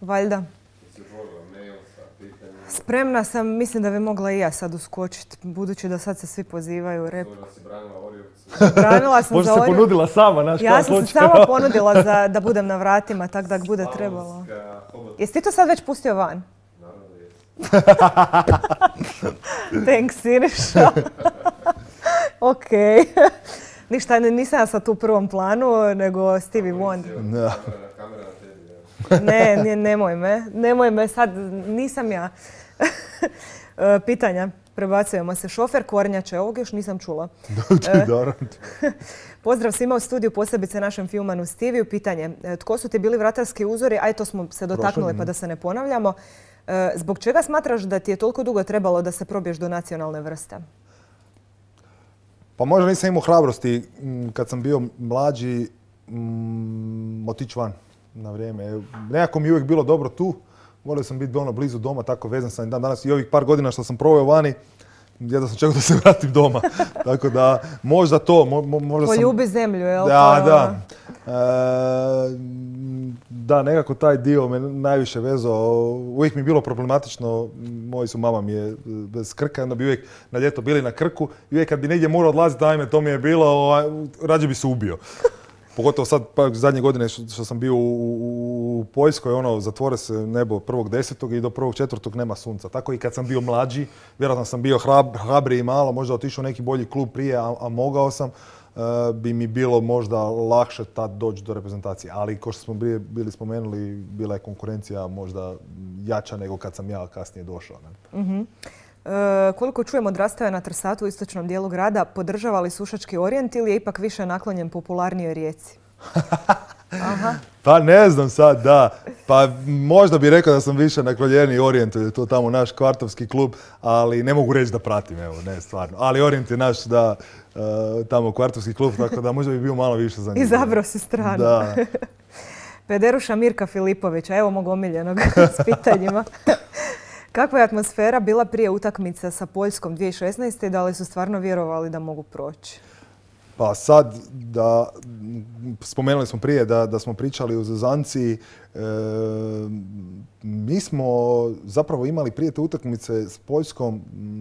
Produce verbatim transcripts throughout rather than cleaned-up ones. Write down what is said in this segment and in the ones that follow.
Valjda. Spremna sam, mislim da bi mogla i ja sad uskočiti, budući da sad se svi pozivaju u rep. Možda si branila Orjevcu. Branila sam Možda za se Orjevcu. ponudila sama, znaš Ja sam se sama ponudila za, da budem na vratima, tak da bude trebalo. Jesi ti to sad već pustio van? Naravno da jesi. Thanks, Siniša. Okej. Ništa, nisam ja sad tu u prvom planu, nego Stevie Wonder. Da. Kamera na tebi, ja. Ne, ne, nemoj me. Nemoj me, sad nisam ja. Pitanja. Prebacujemo se. Šofer kornjače, ovog još nisam čula. Dobro. Pozdrav svima u studiju, posebice našem filmanu Steviju. Pitanje. Tko su ti bili vratarski uzori? Aj, to smo se dotaknuli pa da se ne ponavljamo. Zbog čega smatraš da ti je toliko dugo trebalo da se probiješ do nacionalne vrste? Pa možda nisam imao hrabrosti kad sam bio mlađi mm, otići van na vrijeme. Nekako mi je uvijek bilo dobro tu. Volio sam biti ono blizu doma, tako vezan sam dan danas i ovih par godina što sam proveo vani, jedva sam čekao da se vratim doma. Tako da možda to, mo, možda sam... Poljubi zemlju, jel? Da, da. E, da, nekako taj dio me najviše vezao. Uvijek mi je bilo problematično, moji su mama mi je bez Krka, onda bi uvijek na ljeto bili na Krku i uvijek kad bi negdje morao odlaziti, ajme, to mi je bilo, rađe bi se ubio. Pogotovo sad, pa zadnje godine što, što sam bio u, u, u Poljskoj, ono, zatvore se nebo prvog desetog i do prvog četvrtog nema sunca. Tako i kad sam bio mlađi, vjerojatno sam bio hrab, hrabriji malo, možda otišao u neki bolji klub prije, a, a mogao sam, uh, bi mi bilo možda lakše tad doći do reprezentacije. Ali, kao što smo bili, bili spomenuli, bila je konkurencija možda jača nego kad sam ja kasnije došao. Ne? Mm-hmm. E, koliko čujem odrastao na Trsatu u istočnom dijelu grada, podržava li Sušački Orijent ili je ipak više naklonjen popularnijoj Rijeci? Aha. Pa ne znam sad, da. Pa možda bih rekao da sam više naklonjeniji Orijentu, je to tamo naš kvartovski klub, ali ne mogu reći da pratim, evo, ne, stvarno. Ali Orijent je naš, da, uh, tamo kvartovski klub, tako da možda bi bio malo više za njih. Izabrao si stranu. Da. Pederuša Mirka Filipovića, evo mog omiljenog s pitanjima. Kakva je atmosfera bila prije utakmice sa Poljskom dvije tisuće šesnaeste i da li su stvarno vjerovali da mogu proći? Pa sad, da, spomenuli smo prije da, da smo pričali o zezanci, e, mi smo zapravo imali prije te utakmice s Poljskom,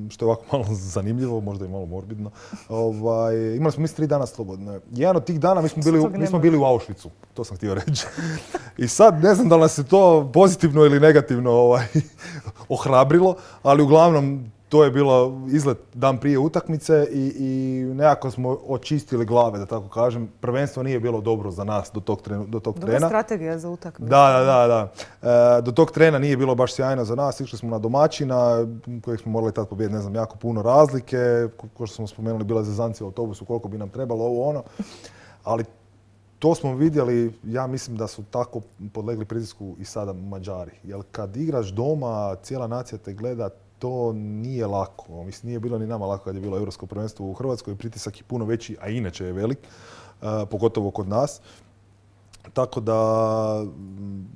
što je ovako malo zanimljivo, možda i malo morbidno, ovaj, imali smo mi tri dana slobodne. Jedan od tih dana mi smo bili, mi smo bili u Auschwitzu, to sam htio reći. I sad ne znam da li nas je to pozitivno ili negativno ovaj, ohrabrilo, ali uglavnom to je bilo izlet dan prije utakmice i, i nekako smo očistili glave, da tako kažem. Prvenstvo nije bilo dobro za nas do tog, trenu, do tog Dobra trena. strategija za utakmicu. Da, da, da. da. E, do tog trena nije bilo baš sjajno za nas. Išli smo na domaćina, kojeg smo morali tad pobijediti, ne znam, jako puno razlike. Ko što smo spomenuli, bila je zezancija u autobusu, koliko bi nam trebalo ovo ono. Ali to smo vidjeli, ja mislim da su tako podlegli pritisku i sada Mađari. Jer kad igraš doma, cijela nacija te gleda, to nije lako. Mislim, nije bilo ni nama lako kad je bilo Europsko prvenstvo u Hrvatskoj. Pritisak je puno veći, a inače je velik, uh, pogotovo kod nas. Tako da m,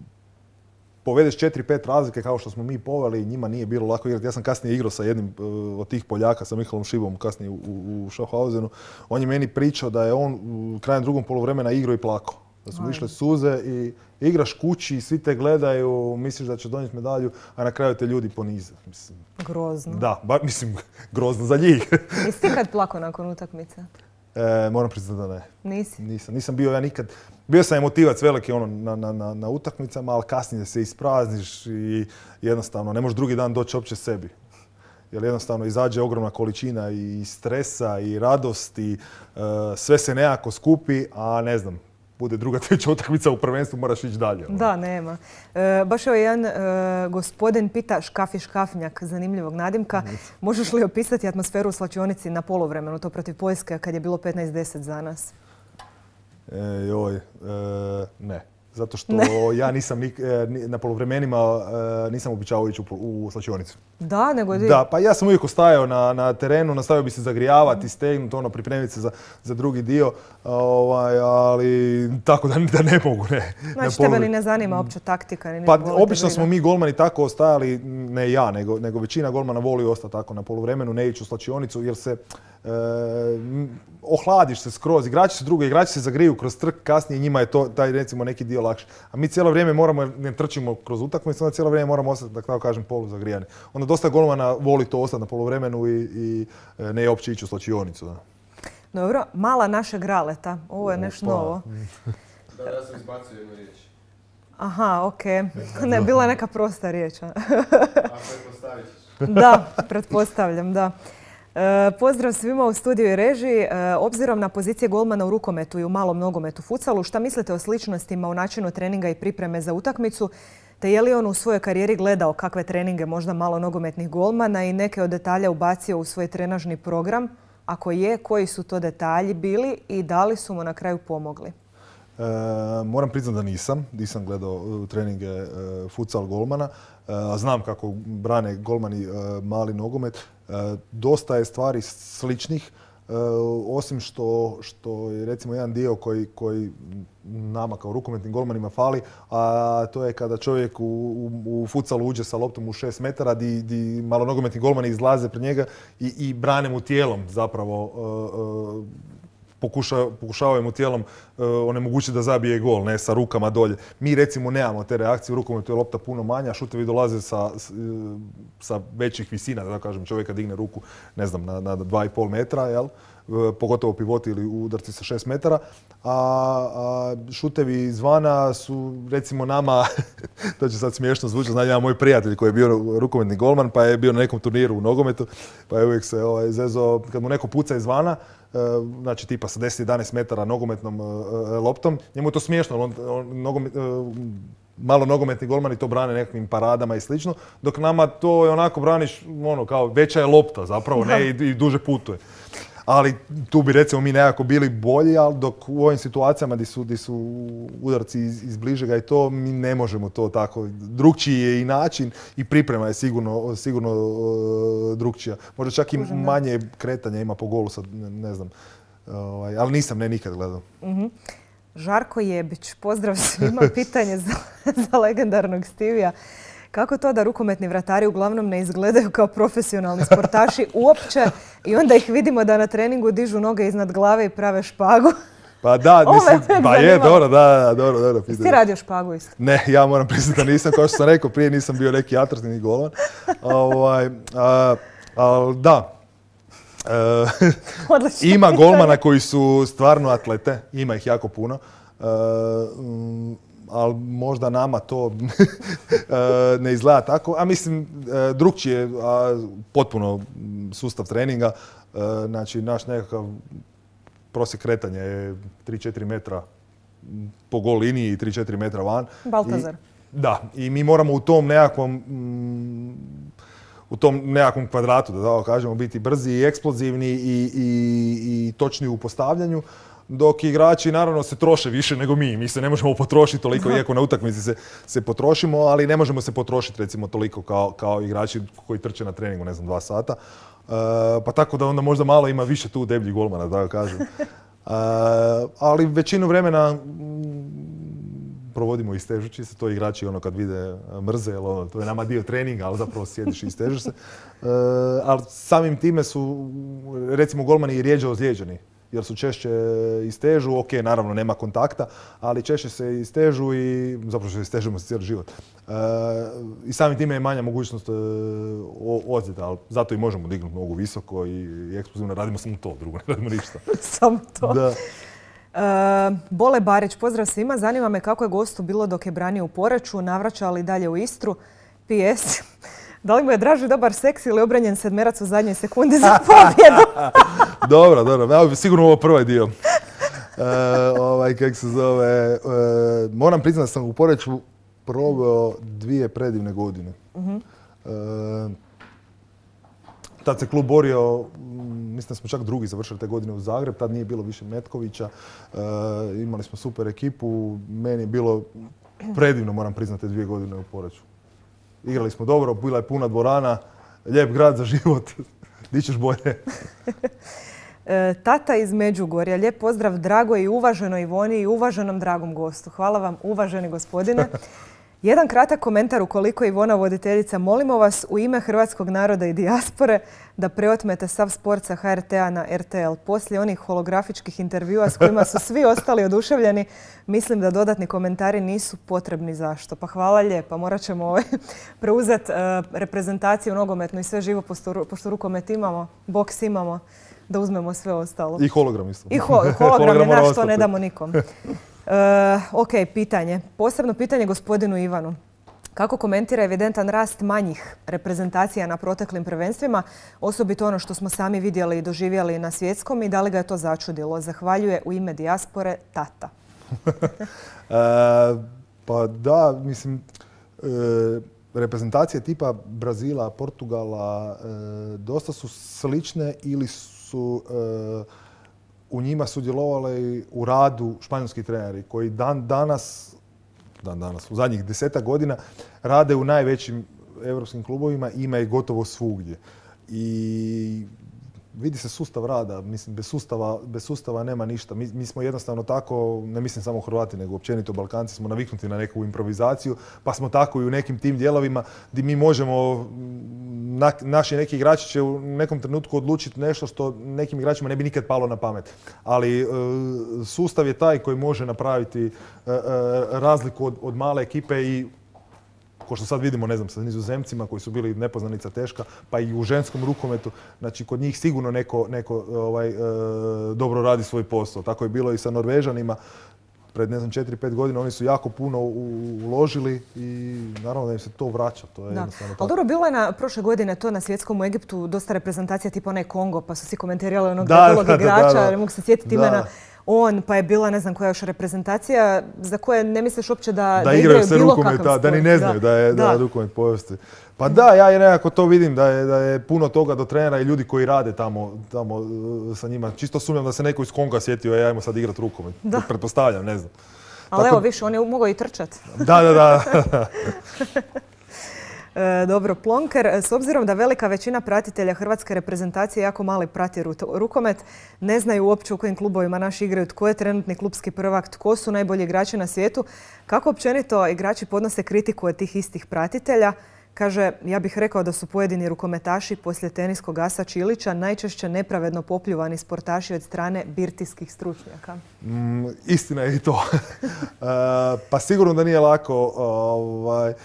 povedeš četiri pet razlike kao što smo mi poveli, njima nije bilo lako igrati. Ja sam kasnije igrao sa jednim uh, od tih Poljaka, sa Mihalom Šibom, kasnije u, u, u Schaffhausenu. On je meni pričao da je on u krajem drugom poluvremena igrao i plakao. Da su mu išle suze i igraš kući, svi te gledaju, misliš da će donijeti medalju, a na kraju te ljudi ponize. Mislim, grozno. Da, ba, mislim, grozno za njih. Jesi ti kad plako nakon utakmice? E, moram priznati da ne. Nisi? Nisam. Nisam bio ja nikad. Bio sam emotivac veliki ono, na, na, na, na utakmicama, ali kasnije se isprazniš i jednostavno ne možeš drugi dan doći uopće sebi. Jer jednostavno izađe ogromna količina i stresa i radosti, uh, sve se nekako skupi, a ne znam, bude druga, treća utakmica u prvenstvu, moraš ići dalje. Da, nema. E, baš je jedan e, gospodin pita Škafi Škafnjak, zanimljivog nadimka. Možeš li opisati atmosferu u slačionici na poluvremenu, to protiv Poljske, kad je bilo petnaest deset za nas? E, joj, e, ne. Zato što ne. ja nisam nik, e, na poluvremenima e, nisam običavao ići u, u slačionicu. Da, nego di? Da, pa ja sam uvijek ostajao na, na terenu, nastavio bi se zagrijavati, stegnuti, ono, pripremiti se za, za drugi dio, ovaj, ali tako da, da ne mogu, ne. Znači tebe ni ne zanima opća taktika? Ni pa obično smo mi golmani tako ostajali, ne ja, nego, nego većina golmana voli ostati tako na poluvremenu, ne ići u slačionicu jer se e, ohladiš se skroz, igrači se drugo, igrači se zagriju kroz trk, kasnije njima je to, taj recimo neki dio bio lakše. A mi cijelo vrijeme moramo, ne trčimo kroz utakmicu, onda cijelo vrijeme moramo ostati, da tako kažem, poluzagrijani. Onda dosta golmana voli to ostati na poluvremenu i, i ne uopće ići u slačionicu. Da. Dobro, mala našeg Raleta. Ovo je nešto novo. Da, ja sam izbacio jednu riječ. Aha, okej. Okay. Ne, bila je neka prosta riječ. A pretpostavit ćeš. Da, pretpostavljam, da. E, pozdrav svima u studiju i režiji. E, obzirom na pozicije golmana u rukometu i u malom nogometu futsalu, šta mislite o sličnostima u načinu treninga i pripreme za utakmicu? Te je li on u svojoj karijeri gledao kakve treninge možda malo nogometnih golmana i neke od detalja ubacio u svoj trenažni program? Ako je, koji su to detalji bili i da li su mu na kraju pomogli? E, moram priznati da nisam. Nisam gledao treninge e, futsal golmana. E, znam kako brane golmani e, mali nogomet. E, dosta je stvari sličnih. E, osim što, što je recimo jedan dio koji, koji nama kao rukometnim golmanima fali, a to je kada čovjek u, u, u futsalu uđe sa loptom u šest metara, di, di malo nogometni golmani izlaze pred njega i, i brane mu tijelom zapravo. E, e, Pokuša, pokušavaju mu tijelom uh, onemogućiti da zabije gol, ne sa rukama dolje. Mi recimo nemamo te reakcije, u rukometu je lopta puno manja, šutevi dolaze sa, sa većih visina, da kažem, čovjeka digne ruku, ne znam, na, na dva i pol metra, jel? Uh, pogotovo pivoti ili udarci sa šest metara. A, a šutevi izvana su recimo nama, to će sad smiješno zvučati, znači jedan moj prijatelj koji je bio rukometni golman, pa je bio na nekom turniru u nogometu, pa je uvijek se ovaj, zezao, kad mu neko puca izvana, znači tipa sa deset do jedanaest metara nogometnom uh, loptom. Njemu je to smiješno, on, on, nogomet, uh, malo nogometni golmani to brane nekakvim paradama i slično, dok nama to je onako braniš, ono, kao veća je lopta zapravo, ne, i, i duže putuje. Ali tu bi recimo mi nekako bili bolji, ali dok u ovim situacijama gdje su, gdje su udarci iz, iz bližega i to, mi ne možemo to tako. Drukčiji je i način i priprema je sigurno, sigurno uh, drukčija. Možda čak i manje kretanja ima po golu, sad ne, ne znam. Uh, ali nisam ne nikad gledao. Mm-hmm. Žarko Jebić, pozdrav svima. Pitanje za, za legendarnog Stivija. Kako to da rukometni vratari uglavnom ne izgledaju kao profesionalni sportaši uopće i onda ih vidimo da na treningu dižu noge iznad glave i prave špagu? Pa da, mislim, pa je, dobro, da, dobro, dobro. Jesi ti radio špagu isto? Ne, ja moram priznati da nisam, kao što sam rekao, prije nisam bio neki atraktivni golman. Ovaj, a, a, da. E, ima golmana koji su stvarno atlete, ima ih jako puno. E, m, ali možda nama to ne izgleda tako. A mislim, drukčije je potpuno sustav treninga. Znači, naš nekakav prosjek kretanja je tri do četiri metra po gol liniji i tri do četiri metra van. Baltazar. I, da, i mi moramo u tom nekakvom u tom nekakvom kvadratu, da tako kažemo, biti brzi i eksplozivni i, i, i točni u postavljanju. Dok igrači naravno se troše više nego mi. Mi se ne možemo potrošiti toliko, iako na utakmici se, se potrošimo, ali ne možemo se potrošiti recimo toliko kao, kao igrači koji trče na treningu, ne znam, dva sata. Uh, pa tako da onda možda malo ima više tu debljih golmana, da kažem. Uh, ali većinu vremena mm, provodimo istežući se. To igrači ono kad vide mrze, ono, to je nama dio treninga, ali zapravo sjediš i istežeš se. Uh, ali samim time su recimo golmani i rijeđe ozlijeđeni. Jer su češće istežu, ok, naravno nema kontakta, ali češće se istežu i zapravo se istežemo za cijeli život. E, I samim time je manja mogućnost e, ozljeda, ali zato i možemo dignuti nogu visoko i, i eksplozivno. Radimo samo to, drugo ne radimo ništa. Samo to. Da. E, Bole Barić, pozdrav svima. Zanima me kako je gostu bilo dok je branio u Poreču, navraća li dalje u Istru. P S Da li mu je draži dobar seks ili obranjen sedmerac u zadnjoj sekundi za pobjedu? Dobro, dobro. Sigurno ovo prvi dio. E, ovaj, kak se zove, e, moram priznati da sam u Poreču proveo dvije predivne godine. Uh-huh. E, tad se klub borio, mislim da smo čak drugi završili te godine u Zagreb, tad nije bilo više Metkovića, e, imali smo super ekipu, meni je bilo predivno, moram priznati, te dvije godine u Poreču. Igrali smo dobro, bila je puna dvorana, lijep grad za život. Di ćeš bolje? e, tata iz Međugorja, lijep pozdrav dragoj i uvaženoj Ivoni i uvaženom dragom gostu. Hvala vam, uvaženi gospodine. Jedan kratak komentar ukoliko Ivona voditeljica, molimo vas u ime hrvatskog naroda i dijaspore da preotmete sav sport sa ha er te a na er te el. Poslije onih holografičkih intervjua s kojima su svi ostali oduševljeni, mislim da dodatni komentari nisu potrebni. Zašto? Pa hvala lijepa. Morat ćemo ovaj, preuzeti uh, reprezentaciju nogometnu i sve živo, pošto, pošto rukomet imamo, boks imamo, da uzmemo sve ostalo. I hologram isto. I ho hologram je naš, to ne damo nikom. Uh, ok, pitanje. Posebno pitanje gospodinu Ivanu. Kako komentira evidentan rast manjih reprezentacija na proteklim prvenstvima, osobito ono što smo sami vidjeli i doživjeli na svjetskom, i da li ga je to začudilo? Zahvaljuje u ime dijaspore tata. e, pa da, mislim, e, reprezentacije tipa Brazila, Portugala e, dosta su slične ili su e, u njima sudjelovali u radu španjolski treneri koji dan danas, dan danas, u zadnjih desetak godina rade u najvećim europskim klubovima, ima ih gotovo svugdje. I vidi se sustav rada, mislim, bez sustava, bez sustava nema ništa. Mi, mi smo jednostavno tako, ne mislim samo Hrvati, nego općenito Balkanci, smo naviknuti na neku improvizaciju, pa smo tako i u nekim tim dijelovima gdje mi možemo, na, naši neki igrači će u nekom trenutku odlučiti nešto što nekim igračima ne bi nikad palo na pamet. Ali e, sustav je taj koji može napraviti e, e, razliku od, od male ekipe i ko što sad vidimo, ne znam, sa Nizozemcima koji su bili nepoznanica teška, pa i u ženskom rukometu, znači kod njih sigurno neko, neko ovaj, e, dobro radi svoj posao. Tako je bilo i sa Norvežanima. Pred, ne znam, četiri pet godina oni su jako puno uložili i naravno da im se to vraća. To je jednostavno tako. Ali dobro, bilo je na prošle godine to na svjetskom u Egiptu dosta reprezentacija tipa onaj Kongo, pa su svi komentirali onog debelog igrača, da, da. Ne mogu se sjetiti imena. On, pa je bila ne znam koja još reprezentacija za koje ne misliš uopće da, da, da igraju se bilo rukomet, kakav da, sport. da ni ne znaju da, da je, da. Da rukomet povesti. Pa da, ja nekako to vidim da je, da je puno toga do trenera i ljudi koji rade tamo, tamo uh, sa njima. Čisto sumnjam da se neko iz Konga sjetio, ja ajmo sad igrat rukomet. Da. Pretpostavljam, ne znam. Ali evo, više, on je mogao i trčati. Da, da, da. E, dobro, Plonker, s obzirom da velika većina pratitelja hrvatske reprezentacije jako mali prati rukomet, ne znaju uopće u kojim klubovima naši igraju, tko je trenutni klubski prvak, tko su najbolji igrači na svijetu, kako općenito igrači podnose kritiku od tih istih pratitelja. Kaže, ja bih rekao da su pojedini rukometaši poslije teniskog asa Čilića najčešće nepravedno popljuvani sportaši od strane birtijskih stručnjaka. Mm, istina je i to. uh, pa sigurno da nije lako. Uh,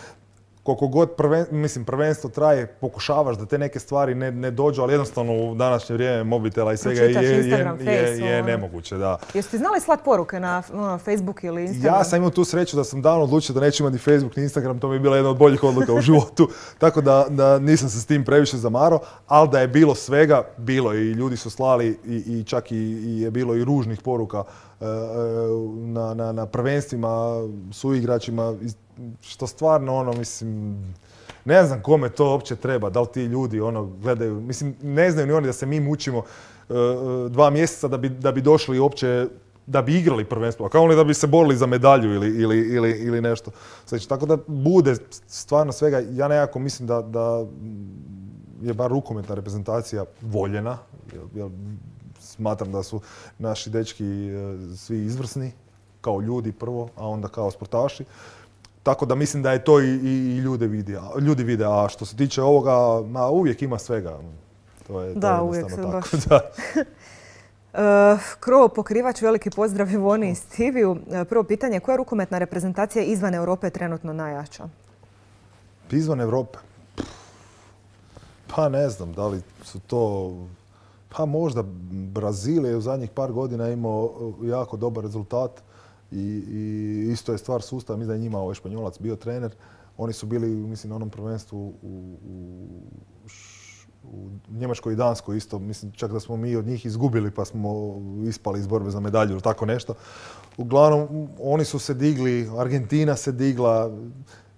koliko god prven, mislim, prvenstvo traje, pokušavaš da te neke stvari ne, ne dođu, ali jednostavno u današnje vrijeme mobitela i svega je, je, Instagram, je, face, je, je nemoguće. Da. Jeste ti znali slat poruke na no, Facebook ili Instagram? Ja sam imao tu sreću da sam davno odlučio da neću imati ni Facebook ni Instagram, to mi je bila jedna od boljih odluka u životu, tako da, da nisam se s tim previše zamarao, ali da je bilo svega, bilo i ljudi su slali i, i čak i, i je bilo i ružnih poruka uh, na, na, na prvenstvima, suigračima, što stvarno, ono, mislim, ne znam kome to uopće treba, da li ti ljudi, ono, gledaju, mislim, ne znaju ni oni da se mi mučimo uh, dva mjeseca da bi, da bi došli uopće, da bi igrali prvenstvo, a kao li da bi se borili za medalju ili, ili, ili, ili nešto. Znači, tako da bude stvarno svega, ja nekako mislim da, da je bar rukometna reprezentacija voljena, jer, jer smatram da su naši dečki uh, svi izvrsni, kao ljudi prvo, a onda kao sportaši. Tako da mislim da je to i, i ljude vidi, ljudi vide, a što se tiče ovoga, ma, uvijek ima svega. To je, da, to je uvijek se tako. baš. Da. uh, Krovo pokrivač, veliki pozdrav Ivoni i Stiviju. Uh, prvo pitanje, koja rukometna reprezentacija izvan Europe je trenutno najjača? Izvan Europe? Pa ne znam, da li su to... Pa možda Brazil je u zadnjih par godina imao jako dobar rezultat. I, i isto je stvar sustava, mislim da je njima ovaj Španjolac bio trener. Oni su bili, mislim, na onom prvenstvu u, u, u Njemačkoj i Danskoj isto. Mislim, čak da smo mi od njih izgubili pa smo ispali iz borbe za medalju ili tako nešto. Uglavnom, oni su se digli, Argentina se digla.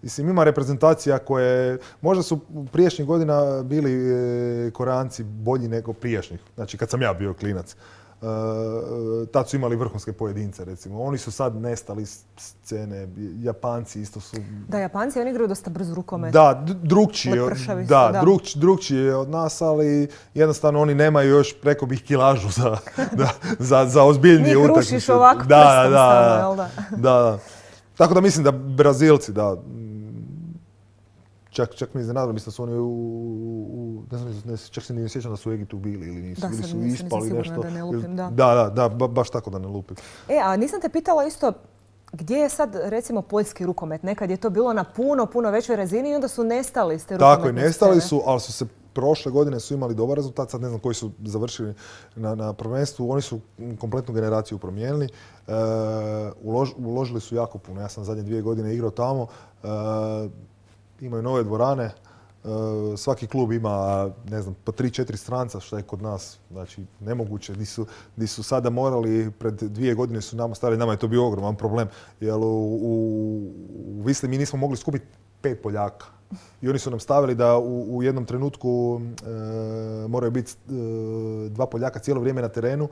Mislim, ima reprezentacija koje, možda su prijašnjih godina bili e, Koreanci bolji nego prijašnjih. Znači, kad sam ja bio klinac. Uh, tad su imali vrhunske pojedince, recimo. Oni su sad nestali s scene, Japanci isto su... Da, Japanci, oni igraju dosta brzo rukomet. Da, drugčije, da, da. Drug, drugčije od nas, ali jednostavno oni nemaju još, preko bih, kilažu za, da, za, za ozbiljnije utakmice. Njih rušiš ovako da, prstom da, samo, jel da? Da, da. Tako da mislim da Brazilci, da, čak, čak mi iznenadilo, mislim da su oni u, u ne znam, ne, čak se ne sjećam da su u Egiptu bili ili nisu, da, bili sad su nisam, ispali nisam nešto. Da, ne lupim, da. da, da, da, ba, baš tako da ne lupim. E, a nisam te pitala isto, gdje je sad, recimo, poljski rukomet? Nekad je to bilo na puno, puno većoj razini i onda su nestali s te rukometne Tako je, nestali su, ali su se prošle godine su imali dobar rezultat, sad ne znam koji su završili na, na prvenstvu, oni su kompletnu generaciju promijenili, e, ulož, uložili su jako puno, ja sam zadnje dvije godine igrao tamo, e, imaju nove dvorane, e, svaki klub ima, ne znam, po tri, četiri stranca, što je kod nas, znači, nemoguće, di su, di su sada morali, pred dvije godine su nama stali, nama je to bio ogroman problem, jer u, u, u Visli mi nismo mogli skupiti pet Poljaka. I oni su nam stavili da u, u jednom trenutku e, moraju biti e, dva Poljaka cijelo vrijeme na terenu.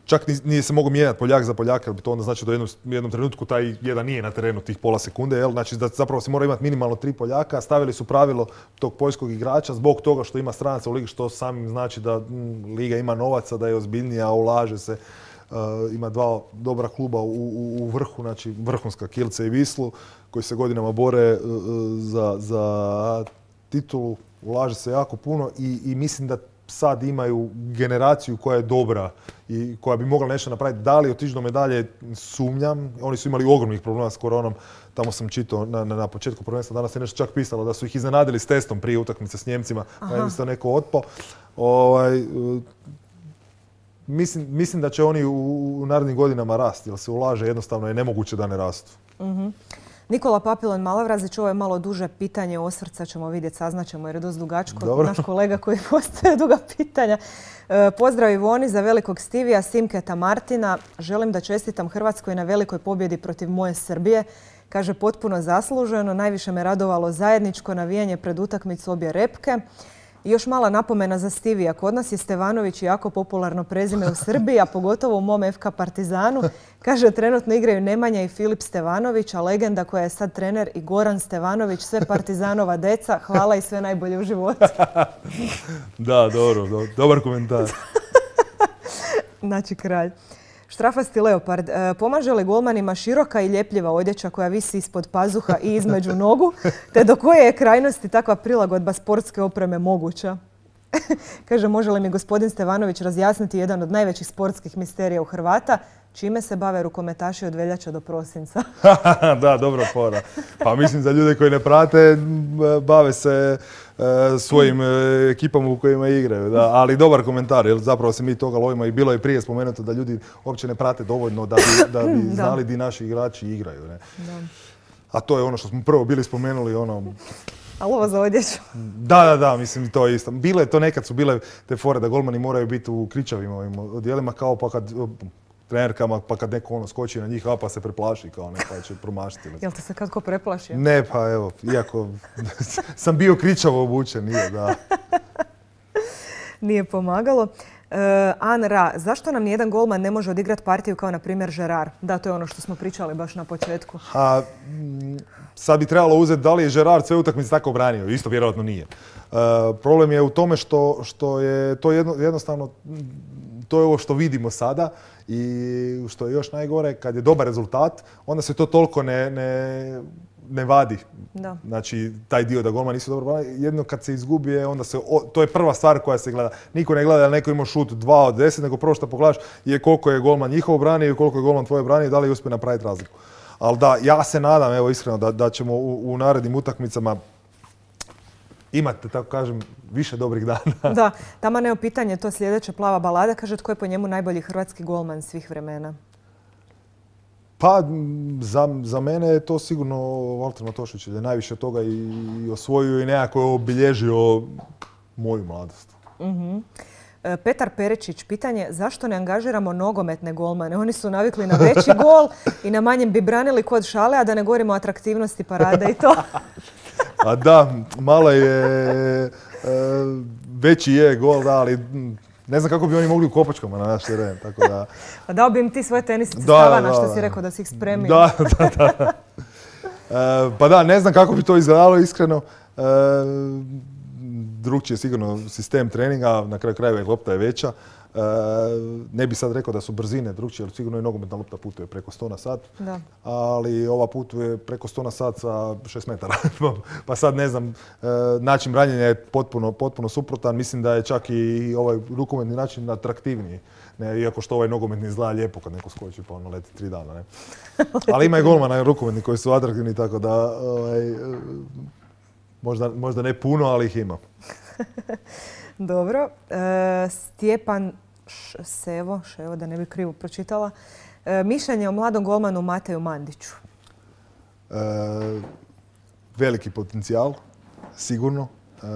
Čak nije se mogao mijenjati Poljak za Poljaka, jer bi to onda znači da u jednom, jednom trenutku taj jedan nije na terenu tih pola sekunde. Jel? Znači da zapravo se mora imati minimalno tri Poljaka. Stavili su pravilo tog poljskog igrača zbog toga što ima stranaca u ligi, što samim znači da m, liga ima novaca, da je ozbiljnija, ulaže se. Uh, ima dva dobra kluba u, u, u vrhu, znači vrhunska Kielce i Vislu, koji se godinama bore uh, za, za titulu. Ulaže se jako puno i, i mislim da sad imaju generaciju koja je dobra i koja bi mogla nešto napraviti. Da li otići do medalje, sumnjam. Oni su imali ogromnih problema s koronom. Tamo sam čitao na, na, na početku prvenstva, danas je nešto čak pisalo da su ih iznenadili s testom prije utakmice s Njemcima, pa je isto neko otpao. Ovaj, uh, Mislim, mislim da će oni u, u narednim godinama rasti, jer se ulaže, jednostavno je nemoguće da ne rastu. Mm-hmm. Nikola Papilon Malavrazić, ovo je malo duže pitanje, osvrca ćemo vidjeti, saznaćemo jer je dosta dugačko. Dobro. Naš kolega koji postaje duga pitanja. E, pozdrav Ivoni za velikog Stivija, Simketa Martina. Želim da čestitam Hrvatskoj na velikoj pobjedi protiv moje Srbije. Kaže, potpuno zasluženo, najviše me radovalo zajedničko navijanje pred utakmicu obje repke. I još mala napomena za Stivija. Kod nas je Stevanović jako popularno prezime u Srbiji, a pogotovo u mom F K Partizanu. Kaže, trenutno igraju Nemanja i Filip Stevanović, a legenda koja je sad trener i Goran Stevanović, sve Partizanova deca. Hvala i sve najbolje u životu. Da, dobro, do, dobar komentar. Znači, kralj. Štrafasti leopard. E, pomaže li golmanima široka i ljepljiva odjeća koja visi ispod pazuha i između nogu, te do koje je krajnosti takva prilagodba sportske opreme moguća? Kaže, može li mi gospodin Stevanović razjasniti jedan od najvećih sportskih misterija u Hrvata, čime se bave rukometaši od veljače do prosinca? Da, dobra fora. Pa mislim za ljude koji ne prate, bave se e, svojim e, ekipama u kojima igraju. Da. Ali dobar komentar, jer zapravo se mi toga lovimo i bilo je prije spomenuto da ljudi uopće ne prate dovoljno da bi, da bi znali di naši igrači igraju. Ne? Da. A to je ono što smo prvo bili spomenuli, ono... A ovo za odjeću? Da, da, da, mislim to je isto. Bile to nekad su bile te fore da golmani moraju biti u kričavim ovim odjelima kao pa kad trenerkama, pa kad neko ono skoči na njih, a pa se preplaši kao ne, pa će promašiti. Jel te se kad ko preplašio? Ne, pa evo, iako sam bio kričavo obučen, nije, da. Nije pomagalo. Uh, An Ra, zašto nam nijedan golman ne može odigrati partiju kao na primjer Gerard? Da, to je ono što smo pričali baš na početku. A, sad bi trebalo uzeti da li je Gerard sve utakmice tako branio. Isto vjerojatno nije. Uh, problem je u tome što, što je to jedno, jednostavno, to je ovo što vidimo sada i što je još najgore, kad je dobar rezultat, onda se to toliko ne, ne, ne vadi. Da. Znači, taj dio da golman nisu dobro branili. Jedno kad se izgubi, onda se, o, to je prva stvar koja se gleda. Niko ne gleda da neko ima šut dva od deset, nego prvo što pogledaš je koliko je golman njihov branio i koliko je golman tvoje branio i da li uspije napraviti razliku. Ali da, ja se nadam, evo iskreno, da, da ćemo u, u narednim utakmicama imate, tako kažem, više dobrih dana. Da, tamo nema pitanje, to sljedeće plava balada. Kaže, tko je po njemu najbolji hrvatski golman svih vremena? Pa, za, za mene je to sigurno Valter Matošić, jer je najviše toga i, i osvojio i nekako je obilježio moju mladost. Uh-huh. Petar Perečić, pitanje, zašto ne angažiramo nogometne golmane? Oni su navikli na veći gol i na manjem bi branili kod šale, a da ne govorimo o atraktivnosti parade i to. A da, malo je, veći je gol, da, ali ne znam kako bi oni mogli u kopačkama na naš teren, tako da... Pa dao bi im ti svoje tenisice Stavana, što si rekao da si ih spremio. Da, da, da. E, pa da, ne znam kako bi to izgledalo, iskreno. E, drugčiji je sigurno sistem treninga, na kraju krajeva lopta je veća. E, Ne bi sad rekao da su brzine drugčije, jer sigurno i nogometna lopta putuje preko sto na sat, da. Ali ova putuje preko sto na sat sa šest metara. Pa sad ne znam, način branjenja je potpuno, potpuno suprotan. Mislim da je čak i ovaj rukometni način atraktivniji. Ne, iako što ovaj nogometni izgleda lijepo kad neko skoči pa ono leti tri dana. Ne? Ali ima i golmana rukometni koji su atraktivni, tako da ovaj, možda, možda ne puno, ali ih ima. Dobro. E, Stjepan Ševo, Ševo, da ne bi krivo pročitala. E, mišljenje o mladom golmanu Mateju Mandiću. E, veliki potencijal, sigurno. E,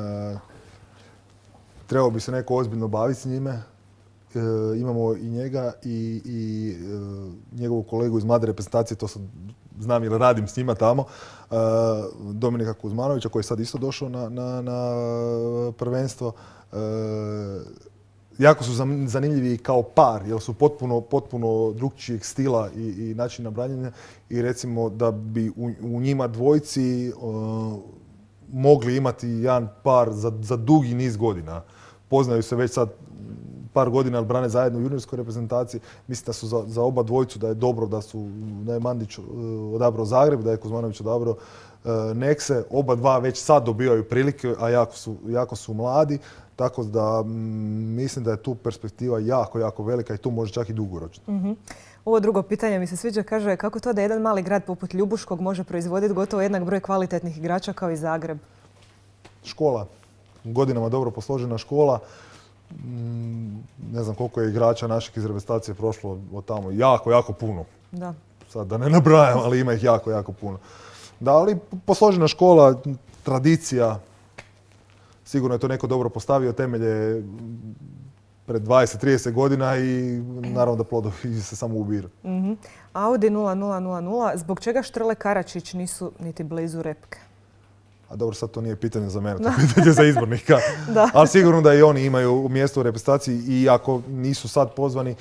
trebao bi se neko ozbiljno baviti s njime. E, imamo i njega i, i e, njegovu kolegu iz mlade reprezentacije, to sam, znam jer radim s njima tamo, e, Dominika Kuzmanovića koji je sad isto došao na, na, na prvenstvo. E, jako su zanimljivi kao par, jer su potpuno, potpuno drugčijeg stila i, i načina branjenja i recimo da bi u, u njima dvojci e, mogli imati jedan par za, za dugi niz godina. Poznaju se već sad par godina, ali brane zajedno u juniorskoj reprezentaciji. Mislim da su za, za oba dvojicu da je dobro da su da je Mandić uh, odabrao Zagreb, da je Kuzmanović odabrao uh, Nekse. Oba dva već sad dobivaju prilike, a jako su, jako su mladi. Tako da m, mislim da je tu perspektiva jako, jako velika i tu može čak i dugoročno. Mm-hmm. Ovo drugo pitanje mi se sviđa, kaže kako to da jedan mali grad poput Ljubuškog može proizvoditi gotovo jednak broj kvalitetnih igrača kao i Zagreb? Škola. Godinama dobro posložena škola. Ne znam koliko je igrača naših iz reprezentacije prošlo od tamo. Jako, jako puno. Da. Sad da ne nabrajam, ali ima ih jako, jako puno. Da, ali posložena škola, tradicija. Sigurno je to neko dobro postavio temelje pred dvadeset trideset godina i naravno da plodovi se samo ubiru. Mm-hmm. Audi nula nula nula nula. Zbog čega Štrle Karačić nisu niti blizu repke? A dobro, sad to nije pitanje za mene, to je pitanje za izbornika. Da. Ali sigurno da i oni imaju mjesto u reprezentaciji i ako nisu sad pozvani,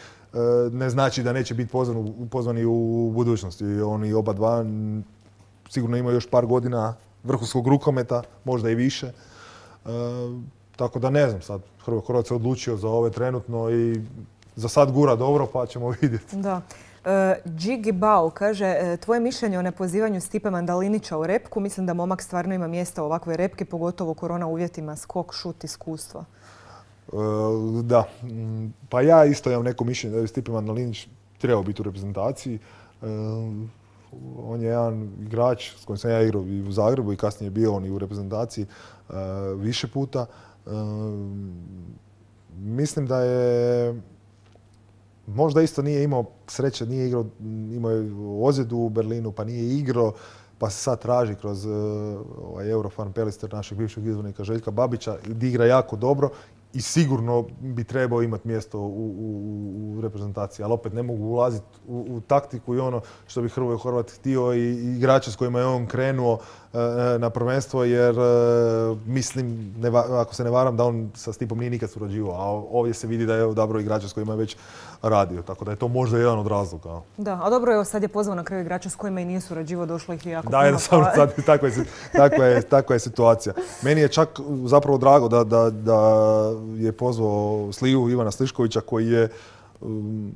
ne znači da neće biti pozvani, pozvani u budućnosti. Oni oba dva sigurno imaju još par godina vrhunskog rukometa, možda i više. E, tako da ne znam sad, Hrvoje Horvat se odlučio za ove trenutno i za sad gura dobro, pa ćemo vidjeti. Da. Džigi Bau kaže, tvoje mišljenje o nepozivanju Stipe Mandalinića u repku, mislim da momak stvarno ima mjesta u ovakvoj repki, pogotovo u korona uvjetima, skok, šut, iskustvo. E, da, pa ja isto imam neko mišljenje da je Stipe Mandalinić trebao biti u reprezentaciji. E, on je jedan igrač s kojim sam ja igrao i u Zagrebu i kasnije je bio on i u reprezentaciji e, više puta. E, mislim da je možda isto nije imao sreće, nije igrao, imao je ozljedu u Berlinu, pa nije igrao, pa se sad traži kroz uh, ovaj Eurofan Pelister našeg bivšeg izbornika Željka Babića, da igra jako dobro i sigurno bi trebao imati mjesto u, u, u reprezentaciji. Ali opet ne mogu ulaziti u, u taktiku i ono što bi Hrvoje Horvat htio i, i igrače s kojima je on krenuo uh, na prvenstvo, jer uh, mislim, ne, ako se ne varam, da on sa Stipom nije nikad surađivao, a ovdje se vidi da je odabrao igrača s kojima je već radio, tako da je to možda jedan od razloga. Da, a dobro je, sad je pozvao na kraju igrača s kojima i nije surađivao, došlo ih je jako da, puno. Da, pa... sad takva je, takva, je, takva je situacija. Meni je čak zapravo drago da, da, da je pozvao Sliju Ivana Sliškovića koji je um,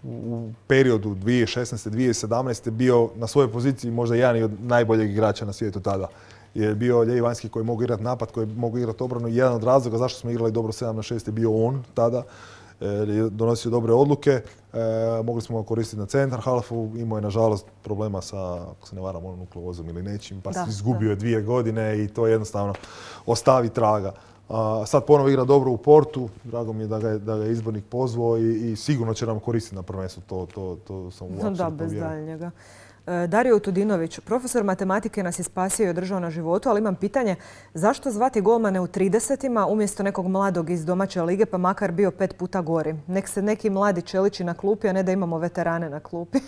u periodu dvije tisuće šesnaeste dvije tisuće sedamnaeste bio na svojoj poziciji možda jedan od najboljeg igrača na svijetu tada. Je bio lijevi vanjski koji mogu igrati napad, koji mogu igrati obranu i jedan od razloga zašto smo igrali dobro sedam na šest je bio on tada. Je donosio dobre odluke, e, mogli smo ga koristiti na centar halfu, imao je nažalost problema sa, ako se ne varam, onom nukleozom ili nečim, pa se izgubio je dvije godine i to jednostavno ostavi traga. A, sad ponovo igra dobro u Portu, drago mi je da ga je, da ga je izbornik pozvao i, i sigurno će nam koristiti na prvenstvu, to, to, to sam u apsolutno da, bez daljnjega. Dario Tudinović, profesor matematike nas je spasio i održao na životu, ali imam pitanje zašto zvati golmane u tridesetima umjesto nekog mladog iz domaće lige, pa makar bio pet puta gori. Nek se neki mladi čeliči na klupi, a ne da imamo veterane na klupi.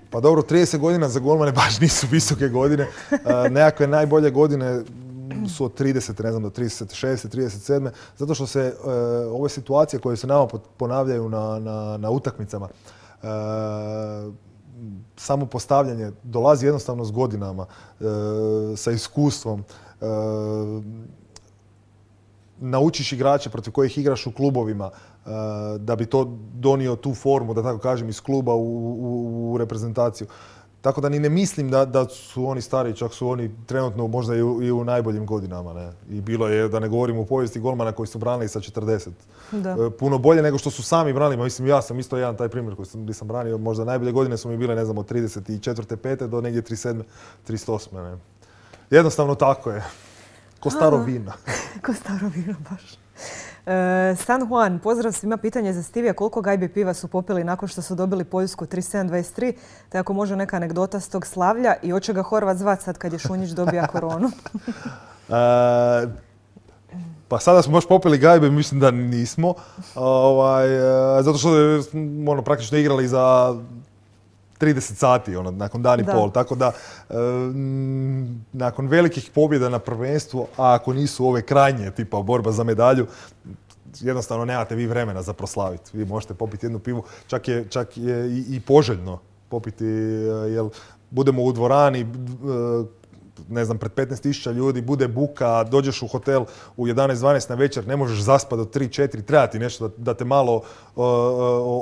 Pa dobro, trideset godina za golmane baš nisu visoke godine. Nekakve najbolje godine su od trideset, ne znam, do trideset šeste, trideset sedme, zato što se e, ove situacije koje se nama ponavljaju na, na, na utakmicama, e, samo postavljanje dolazi jednostavno s godinama, e, sa iskustvom. E, naučiš igrače protiv kojih igraš u klubovima, da bi to donio tu formu, da tako kažem, iz kluba u, u, u reprezentaciju. Tako da ni ne mislim da, da su oni stariji, čak su oni trenutno možda i u, i u najboljim godinama. Ne? I bilo je, da ne govorimo u povijesti golmana koji su branili sa četrdeset. Da. Puno bolje nego što su sami branili. Mislim, ja sam isto jedan taj primjer koji sam, gdje sam branio. Možda najbolje godine su mi bile, ne znam, od trideset četvrte pete do negdje trideset sedme trideset osme Ne? Jednostavno tako je. Ko staro vino. Ko staro vino, baš. E, San Juan, pozdrav svima, pitanje za Stivija. Koliko gajbi piva su popili nakon što su dobili Poljsku trideset sedam dvadeset tri? Te ako može neka anegdota s tog slavlja i hoće ga Horvat zvat sad kad je Šunjić dobija koronu? e, pa sada smo baš popili gajbe, mislim da nismo. Ovaj, zato što ono, praktično igrali za trideset sati, ono, nakon dan i da. pol. Tako da, e, nakon velikih pobjeda na prvenstvu, a ako nisu ove krajnje, tipa borba za medalju, jednostavno nemate vi vremena za proslaviti. Vi možete popiti jednu pivu, čak je, čak je i, i poželjno popiti, jer budemo u dvorani, ne znam, pred petnaest tisuća ljudi, bude buka, dođeš u hotel u jedanaest dvanaest na večer, ne možeš zaspati do tri četiri, treba ti nešto da, da te malo uh,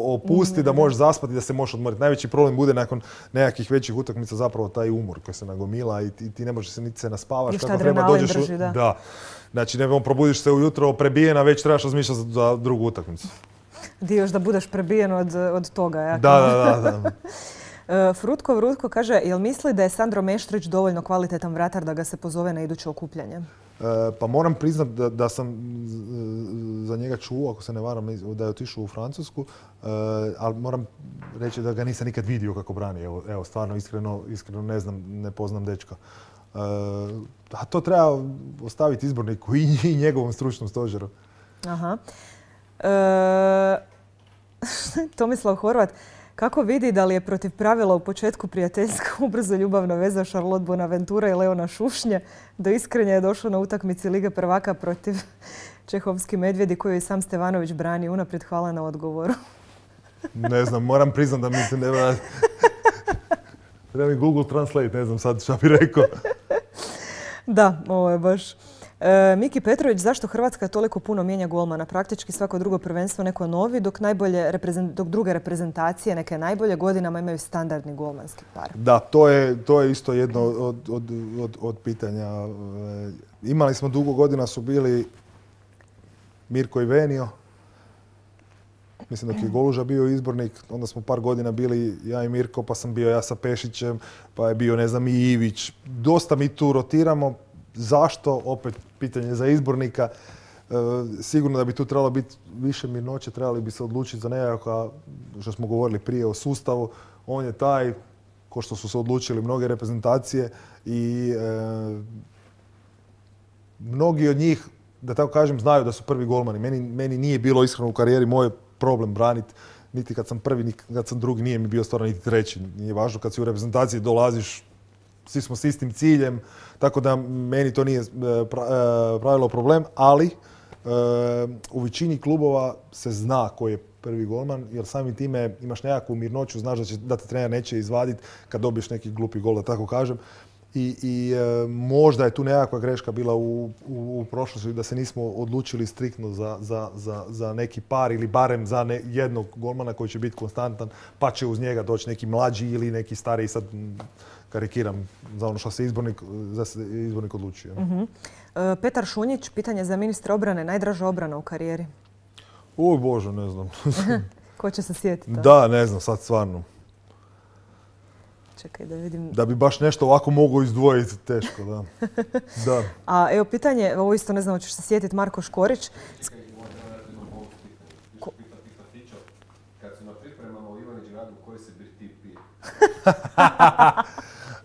opusti, da možeš zaspati, da se možeš odmoriti. Najveći problem bude nakon nekakvih većih utakmica zapravo taj umor koji se nagomila i ti, ti ne možeš se niti se naspavaš. I šta treba, dođeš drži, u, da. da. Znači, ne probudiš se ujutro prebijena, već trebaš razmišljati za drugu utakmicu. Di još da budeš prebijen od, od toga, ja? Da, da, da. da. Frutko Vrutko kaže, jel misli da je Sandro Meštrić dovoljno kvalitetan vratar da ga se pozove na iduće okupljanje? E, pa moram priznat da, da sam za njega čuo, ako se ne varam, da je otišao u Francusku, e, ali moram reći da ga nisam nikad vidio kako brani. Evo, evo stvarno, iskreno, iskreno ne znam, ne poznam dečka. E, a to treba ostaviti izborniku i, i njegovom stručnom stožeru. Aha. E, Tomislav Horvat, kako vidi da li je protiv pravila u početku prijateljska ubrzo ljubavna veza Charlotte Bonaventura i Leona Šušnje? Do iskrenja je došlo na utakmici Lige prvaka protiv Čehovski Medvjedi koju je sam Stevanović brani. Unaprijed hvala na odgovoru. Ne znam, moram priznat da mi se ne vrati. Treba mi Google Translate, ne znam sad šta bi rekao. Da, ovo je baš... E, Miki Petrović, zašto Hrvatska toliko puno mijenja golmana? Praktički svako drugo prvenstvo neko novi, dok, najbolje, dok druge reprezentacije, neke najbolje godinama imaju standardni golmanski par. Da, to je, to je isto jedno od, od, od, od pitanja. E, imali smo dugo godina, su bili Mirko i Venio. Mislim dok je Goluža bio izbornik, onda smo par godina bili ja i Mirko, pa sam bio ja sa Pešićem, pa je bio, ne znam, i Ivić. Dosta mi tu rotiramo. Zašto? Opet pitanje za izbornika. E, sigurno da bi tu trebalo biti više mirnoće, trebali bi se odlučiti za nekakva, što smo govorili prije o sustavu. On je taj, ko što su se odlučili mnoge reprezentacije i e, mnogi od njih, da tako kažem, znaju da su prvi golmani. Meni, meni nije bilo iskreno u karijeri moj problem braniti. Niti kad sam prvi, niti kad sam drugi, nije mi bio stvarno niti treći. Nije važno kad si u reprezentaciji dolaziš, svi smo s istim ciljem, tako da meni to nije pravilo problem, ali u većini klubova se zna ko je prvi golman, jer samim time imaš nekakvu mirnoću, znaš da, će, da te trener neće izvaditi kad dobiješ neki glupi gol, da tako kažem. I, i e, možda je tu nekakva greška bila u, u, u prošlosti da se nismo odlučili striktno za, za, za, za neki par ili barem za ne, jednog golmana koji će biti konstantan, pa će uz njega doći neki mlađi ili neki stariji, sad karikiram za ono što se izbornik, za se izbornik odlučio. Uh-huh. e, Petar Šunjić, pitanje za ministra obrane, najdraža obrana u karijeri? Oj Bože, ne znam. Ko će se sjetiti? Da, ne znam, sad stvarno. Čekaj da vidim. Da bi baš nešto ovako mogao izdvojiti, teško, da. da. A evo pitanje, ovo isto ne znam, hoćeš se sjetiti, Marko Škorić. Ko... Kad su na pripremama u Ivanić gradu, koji se birtip pije?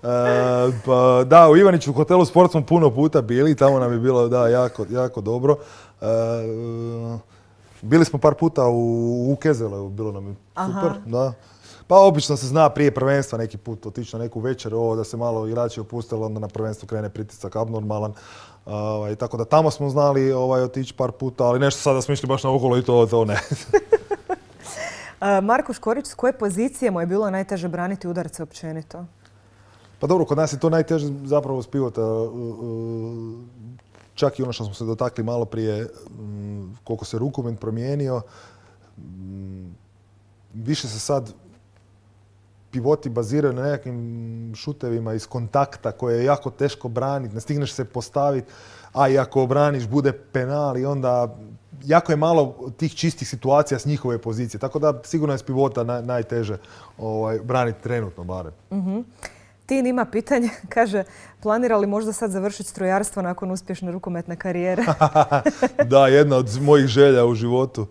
e, pa, da, u Ivaniću u hotelu Sport smo puno puta bili, tamo nam je bilo da, jako, jako dobro. E, bili smo par puta u, u Kezele, bilo nam je super. Aha. Da. Pa obično se zna prije prvenstva neki put otići na neku večer, ovo da se malo igrači opustili, onda na prvenstvu krene pritisak abnormalan. Uh, tako da tamo smo znali ovaj, otići par puta, ali nešto sada smo išli baš na okolo i to, to ne. uh, Marko Škorić, s koje pozicije mu je bilo najteže braniti udarce općenito? Pa dobro, kod nas je to najteže zapravo s pivota. Uh, uh, čak i ono što smo se dotakli malo prije, koliko se rukomet promijenio, više se sad pivoti baziraju na nekakvim šutevima iz kontakta koje je jako teško braniti, ne stigneš se postaviti, a i ako obraniš bude penal i onda jako je malo tih čistih situacija s njihove pozicije. Tako da sigurno je s pivota naj, najteže ovaj, braniti trenutno barem. Mm-hmm. Tin ima pitanje, kaže, planira li možda sad završiti strojarstvo nakon uspješne rukometne karijere? Da, jedna od mojih želja u životu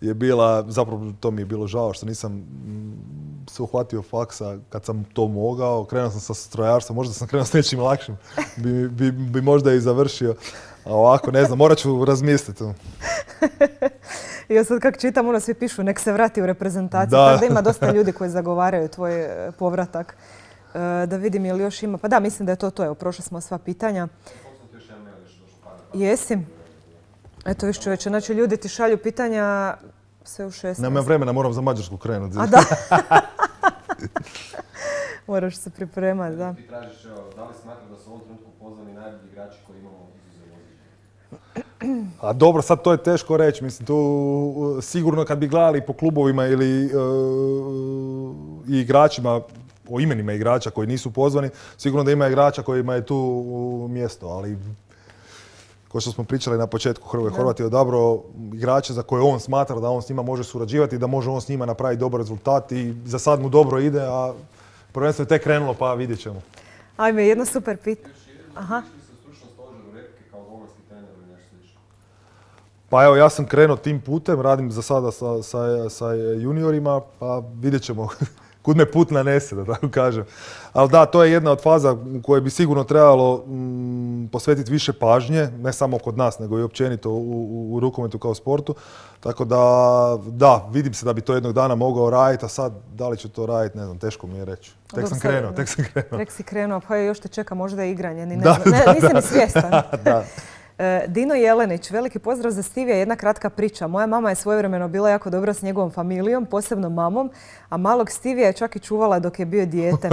je bila, zapravo to mi je bilo žao što nisam se uhvatio faksa kad sam to mogao. Krenuo sam sa strojarstvom, možda sam krenuo s nečim lakšim, bi, bi, bi možda i završio. A ovako, ne znam, morat ću razmisliti. I sad kako čitam, ono svi pišu, nek se vrati u reprezentaciju. Da. Tako da ima dosta ljudi koji zagovaraju tvoj povratak. Da vidim je li još ima. Pa da, mislim da je to to. Evo, prošli smo sva pitanja. Jesi? Eto, viš čovječe, znači ljudi ti šalju pitanja sve u šesnaest. Nema vremena, moram za Mađarsku krenuti. A da? Moraš se pripremati, da. Ti tražiš, da li smatraš da su u ovom trenutku pozvani najbolji igrači koji imamo izuzev Ozilja? A dobro, sad to je teško reći. Mislim, tu sigurno kad bi gledali po klubovima ili uh, i igračima, o imenima igrača koji nisu pozvani, sigurno da ima igrača kojima je tu mjesto, ali kao što smo pričali na početku, Hrvoje Horvat je odabrao igrače za koje on smatra da on s njima može surađivati i da može on s njima napraviti dobar rezultat i za sad mu dobro ide, a prvenstveno je tek krenulo pa vidjet ćemo. Ajme, jedno super pitanje. Aha. Stručno stožeru repke kao golmanski trener ili nešto slično? Pa evo, ja sam krenuo tim putem, radim za sada sa, sa, sa juniorima, pa vidjet ćemo kud me put nanese, da tako kažem. Ali da, to je jedna od faza u kojoj bi sigurno trebalo mm, posvetiti više pažnje, ne samo kod nas, nego i općenito u, u, u rukometu kao sportu. Tako da, da, vidim se da bi to jednog dana mogao raditi, a sad da li ću to raditi, ne znam, teško mi je reći. Tek Dobro, sam krenuo, tek sam krenuo. Tek si krenuo, pa još te čeka možda i igranje, ni ne, da, ne, da, nisi da, ni svjestan. Da. Dino Jelenić, veliki pozdrav za Stivija, jedna kratka priča. Moja mama je svojevremeno bila jako dobra s njegovom familijom, posebno mamom, a malog Stivija je čak i čuvala dok je bio dijete.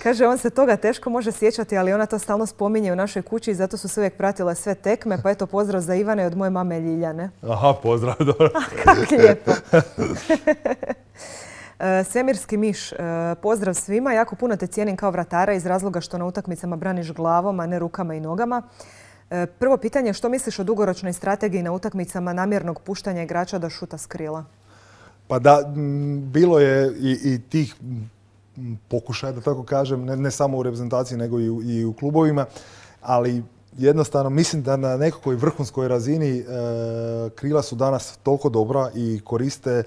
Kaže, on se toga teško može sjećati, ali ona to stalno spominje u našoj kući i zato su se uvijek pratile sve tekme, pa eto pozdrav za Ivane od moje mame Ljiljane. Aha, pozdrav, dobro. Kako lijepo. Svemirski miš, pozdrav svima. Jako puno te cijenim kao vratara iz razloga što na utakmicama braniš glavom, a ne rukama i nogama. Prvo pitanje, što misliš o dugoročnoj strategiji na utakmicama namjernog puštanja igrača da šuta s krila? Pa da, bilo je i, i tih pokušaja, da tako kažem, ne, ne samo u reprezentaciji nego i u, i u klubovima, ali jednostavno mislim da na nekakvoj vrhunskoj razini e, krila su danas toliko dobra i koriste e,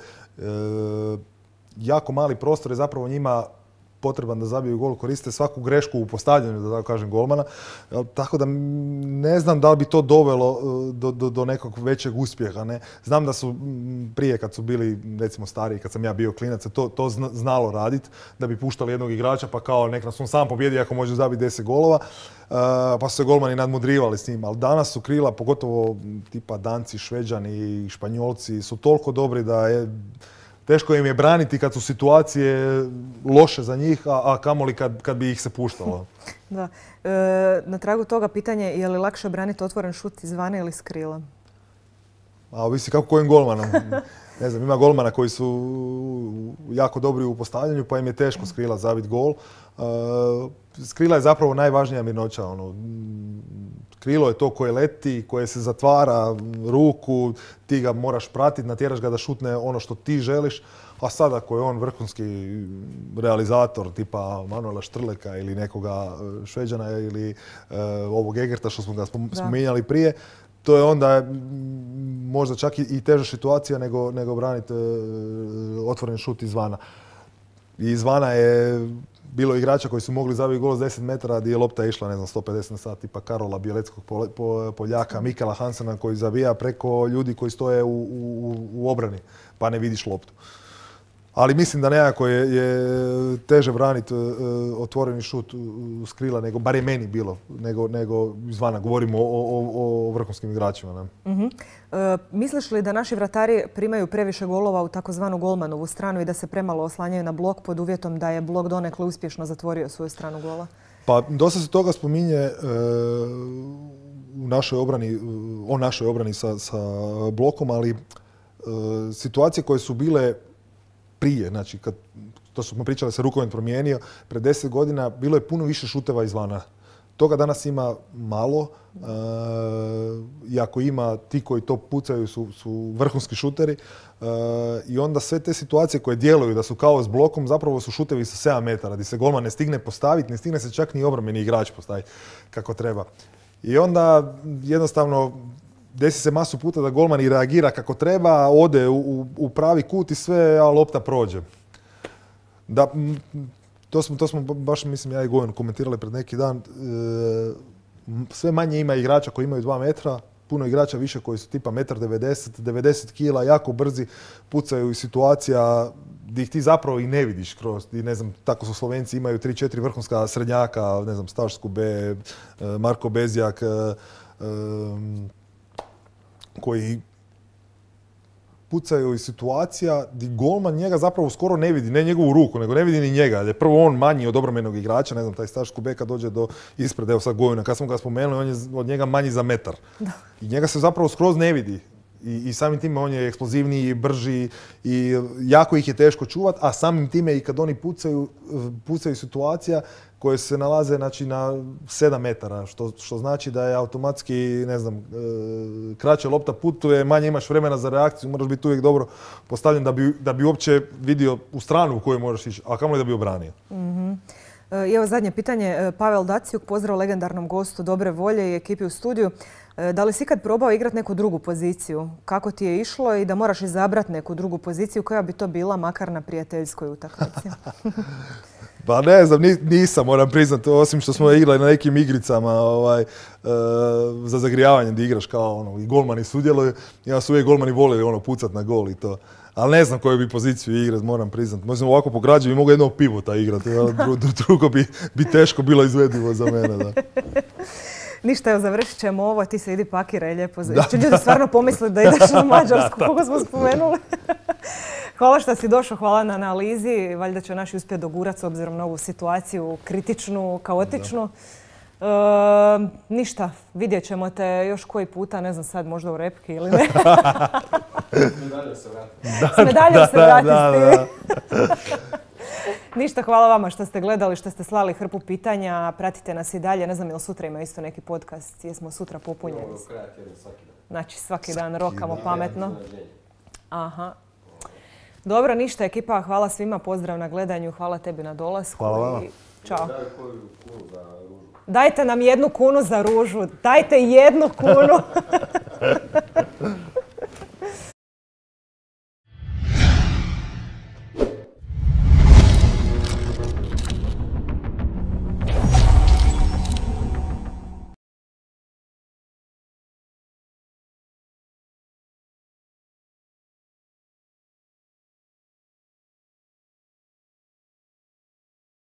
jako mali prostor je zapravo njima potreban da zabiju gol, koriste svaku grešku u postavljanju, da tako kažem, golmana. Tako da ne znam da li bi to dovelo do, do, do nekog većeg uspjeha. Ne? Znam da su prije kad su bili, recimo stariji, kad sam ja bio klinac, to, to znalo raditi, da bi puštali jednog igrača pa kao nek nas on sam pobjedi ako može zabiti deset golova. Uh, pa su se golmani nadmudrivali s njim. Ali danas su krila, pogotovo tipa Danci, Šveđani i Španjolci, su toliko dobri da je teško im je braniti kad su situacije loše za njih, a, a kamoli kad, kad bi ih se puštalo. Da. E, na tragu toga pitanje, je li lakše braniti otvoren šut izvana ili s krila? A ovisi kako kojim golmanom. Ne znam, ima golmana koji su jako dobri u postavljanju, pa im je teško s krila zabiti gol. Uh, s krila je zapravo najvažnija mirnoća. Ono. Krilo je to koje leti, koje se zatvara ruku, ti ga moraš pratiti, natjeraš ga da šutne ono što ti želiš. A sad ako je on vrhunski realizator tipa Manuela Štrleka ili nekoga Šveđana ili uh, ovog Egerta što smo ga spominjali prije, to je onda možda čak i teža situacija nego, nego braniti uh, otvoren šut izvana. I izvana je bilo igrača koji su mogli zabiti gol s deset metara gdje je lopta išla, ne znam, sto pedeset na sat, tipa Karola Bjeleckog Poljaka, Mikela Hansena koji zabija preko ljudi koji stoje u, u, u obrani, pa ne vidiš loptu. Ali mislim da nekako je, je teže braniti uh, otvoreni šut s krila, nego, bar je meni bilo, nego, nego izvana. Govorimo o, o, o vrhunskim igračima. Ne? Uh-huh. E, misliš li da naši vratari primaju previše golova u takozvanu golmanovu stranu i da se premalo oslanjaju na blok pod uvjetom da je blok donekle uspješno zatvorio svoju stranu gola? Pa dosta se toga spominje e, u našoj obrani, o našoj obrani sa, sa blokom, ali uh, situacije koje su bile prije, znači kad to smo pričali, se rukomet promijenio, pred deset godina bilo je puno više šuteva izvana. Toga danas ima malo, uh, i ako ima, ti koji to pucaju su, su vrhunski šuteri, uh, i onda sve te situacije koje djeluju da su kao s blokom zapravo su šutevi sa sedam metara, gdje se golman ne stigne postaviti, ne stigne se čak ni obrambeni igrač postaviti kako treba. I onda jednostavno desi se masu puta da golman i reagira kako treba, ode u, u pravi kut i sve, a lopta prođe. Da, to smo, to smo baš, mislim, ja i Gojan komentirali pred neki dan. E, sve manje ima igrača koji imaju dva metra, puno igrača više koji su tipa jedan devedeset, devedeset kila, jako brzi, pucaju iz situacija gdje ih ti zapravo i ne vidiš kroz. I ne znam, tako su Slovenci, imaju tri četiri vrhunska srednjaka, ne znam, Staš Skube, Marko Bezjak, e, e, koji pucaju iz situacija gdje golman njega zapravo skoro ne vidi, ne njegovu ruku, nego ne vidi ni njega. Jer je prvo on manji od obrambenog igrača, ne znam, taj Staš Kubeka dođe do ispred, evo sad Gojuna, kad smo ga spomenuli, on je od njega manji za metar. Da. I njega se zapravo skroz ne vidi. I, i samim time on je eksplozivniji, brži i jako ih je teško čuvati, a samim time i kad oni pucaju, pucaju situacija koje se nalaze, znači, na sedam metara, što, što znači da je automatski, ne znam, e, kraće lopta putuje, manje imaš vremena za reakciju, moraš biti uvijek dobro postavljen da bi, da bi uopće vidio u stranu u kojoj možeš ići, a kamoli da bi obranio. Mm-hmm. I evo zadnje pitanje. Pavel Dacijuk, pozdrav legendarnom gostu dobre volje i ekipi u studiju. Da li si ikad probao igrati neku drugu poziciju? Kako ti je išlo i da moraš izabrati neku drugu poziciju, koja bi to bila, makar na prijateljskoj utakmici? Pa ne znam, nisam, moram priznati, osim što smo igrali na nekim igricama ovaj, e, za zagrijavanje gdje igraš kao ono, i golmani sudjeluju. Ja su uvijek golmani volili ono, pucat na gol i to. Ali ne znam koju bi poziciju igrati, moram priznati. Možda ovako po građe bi mogu jednog pivota igrati, dru, drugo bi, bi teško bilo izvedivo za mene. Da. Ništa, evo, završit ćemo ovo, ti se idi pakiraj lijepo. Će ljudi stvarno pomisliti da ideš na Mađarsku, koga smo spomenuli. Hvala što si došao, hvala na analizi. Valjda će naši uspjeti dogurati s obzirom na ovu situaciju, kritičnu, kaotičnu. E, ništa, vidjet ćemo te još koji puta, ne znam sad, možda u repki ili ne. S medaljom se vrati. S medaljom se vrati s tim. Ništa, hvala vama što ste gledali, što ste slali hrpu pitanja. Pratite nas i dalje. Ne znam, jel sutra ima isto neki podcast? Jesmo sutra popunjeni? Imamo do kraja tjedna svaki dan. Znači, svaki dan rokamo pametno. Aha. Dobro, ništa, ekipa. Hvala svima. Pozdrav na gledanju. Hvala tebi na dolasku. Hvala vama. Ćao. Daj koju kunu za ružu. Dajte nam jednu kunu za ružu. Dajte jednu kunu.